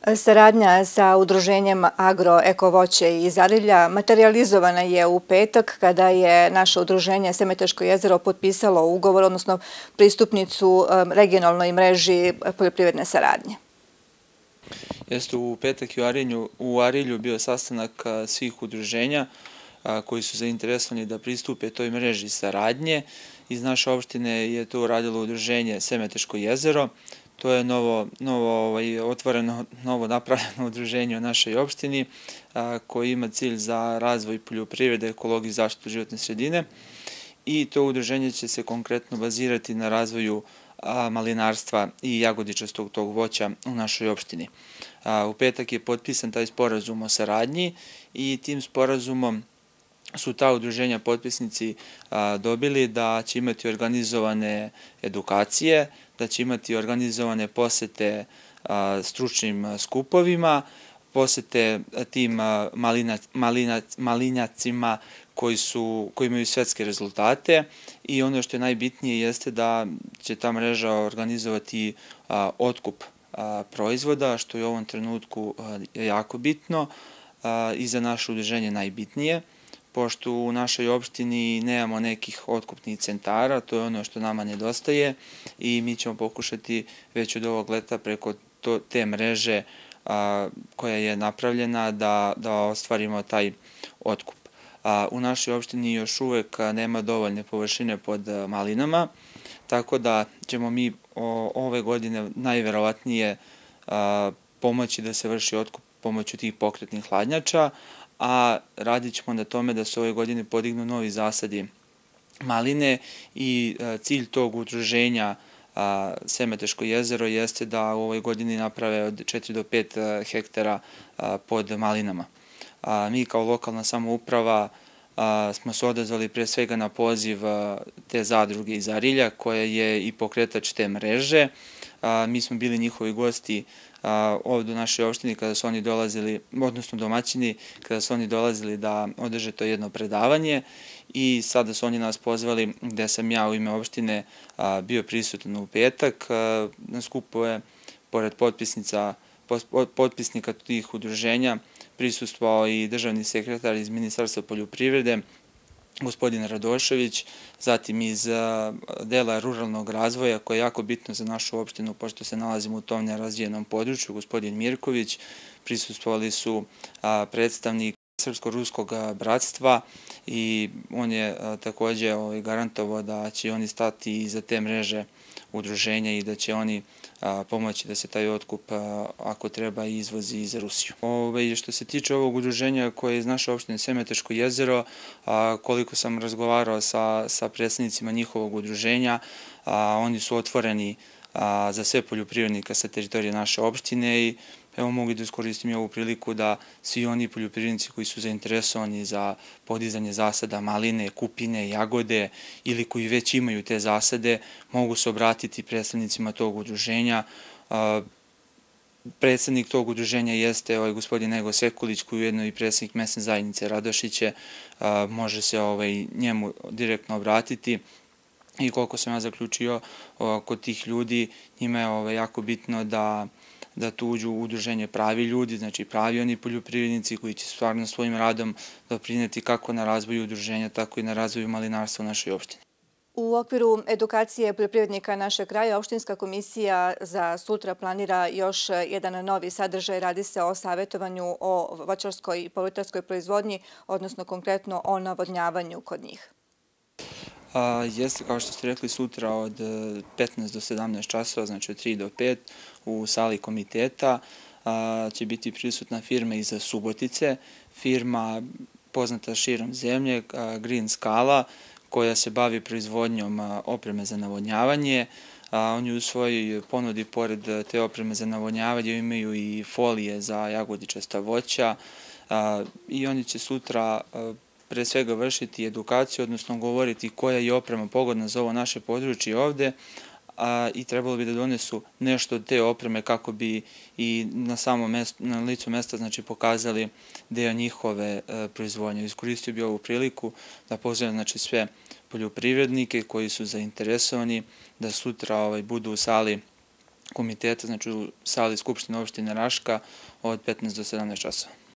Saradnja sa udruženjem Agro Eko Voće iz Arilja materijalizovana je u petak kada je naše udruženje Semeteško jezero potpisalo ugovor, odnosno pristupnicu regionalnoj mreži poljoprivredne saradnje. Jeste u petak u Arilju bio sastanak svih udruženja koji su zainteresovani da pristupe toj mreži saradnje. Iz naše opštine je to uradilo udruženje Semeteško jezero. To je otvoreno, novo napravljeno udruženje u našoj opštini koji ima cilj za razvoj poljoprivrede, ekologiju i zaštitu životne sredine. I to udruženje će se konkretno bazirati na razvoju malinarstva i jagodičastog tog voća u našoj opštini. U petak je potpisan taj sporazum o saradnji i tim sporazumom su ta udruženja potpisnici dobili da će imati organizovane edukacije, da će imati organizovane posete stručnim skupovima, posete tim malinjacima koji imaju svetske rezultate i ono što je najbitnije jeste da će ta mreža organizovati otkup proizvoda, što je u ovom trenutku jako bitno i za naše udruženje najbitnije, pošto u našoj opštini nemamo nekih otkupnih centara, to je ono što nama nedostaje i mi ćemo pokušati već od ovog leta preko te mreže koja je napravljena da ostvarimo taj otkup. U našoj opštini još uvek nema dovoljne površine pod malinama, tako da ćemo mi ove godine najverovatnije pomoći da se vrši otkup pomoću tih pokretnih hladnjača, a radit ćemo na tome da se ove godine podignu novi zasadi maline i cilj tog udruženja Semeteško jezero jeste da u ovoj godini naprave od 4 do 5 hektara pod malinama. Mi kao lokalna samouprava smo se odazvali pre svega na poziv te zadruge iz Arilja koja je i pokretač te mreže. Mi smo bili njihovi gosti ovdje u našoj opštini kada su oni dolazili, odnosno domaćini, kada su oni dolazili da održe to jedno predavanje i sada su oni nas pozvali gde sam ja u ime opštine bio prisutan u petak. Na skupu je, pored potpisnika tih udruženja, prisustvovao i državni sekretar iz Ministarstva poljoprivrede, gospodin Radošević, zatim iz dela ruralnog razvoja koje je jako bitno za našu opštinu pošto se nalazimo u tom nerazvijenom području, gospodin Mirković, prisustvovali su predstavnik Srpsko-ruskog bratstva i on je takođe garantovao da će oni stati iza te mreže udruženja i da će oni pomoći da se taj otkup, ako treba, izvozi iz Rusiju. Što se tiče ovog udruženja koje je iz naše opštine Semeteško jezero, koliko sam razgovarao sa predstavnicima njihovog udruženja, oni su otvoreni za sve poljoprivrednika sa teritorije naše opštine i evo mogu da iskoristim ovu priliku da svi oni poljoprivrednici koji su zainteresovani za podizanje zasada maline, kupine, jagode ili koji već imaju te zasade mogu se obratiti predstavnicima tog udruženja. Predstavnik tog udruženja jeste gospodin Nego Sekulić koji je ujedno i predstavnik mesne zajednice Radošiće, može se njemu direktno obratiti. I koliko sam ja zaključio kod tih ljudi, njima je jako bitno da tu uđu u udruženje pravi ljudi, znači pravi oni poljoprivrednici koji će stvarno svojim radom doprineti kako na razvoju udruženja, tako i na razvoju malinarstva u našoj opštini. U okviru edukacije poljoprivrednika našeg kraja, opštinska komisija za sutra planira još jedan novi sadržaj. Radi se o savjetovanju o voćarskoj i povrtarskoj proizvodnji, odnosno konkretno o navodnjavanju kod njih. Jeste, kao što ste rekli, sutra od 15 do 17 časova, znači od 3 do 5, u sali komiteta će biti prisutna firma iz Subotice, firma poznata širom zemlje, Green Skala, koja se bavi proizvodnjom opreme za navodnjavanje. Oni u svojoj ponudi, pored te opreme za navodnjavanje, imaju i folije za jagodičasta voća i oni će sutra pre svega vršiti edukaciju, odnosno govoriti koja je oprema pogodna za ovo naše područje ovde i trebalo bi da donesu nešto od te opreme kako bi i na licu mesta pokazali deo njihove proizvodnje. Iskoristio bi ovu priliku da pozovem sve poljoprivrednike koji su zainteresovani da sutra budu u sali komiteta, znači u sali Skupštine opštine Raška od 15 do 17 časova.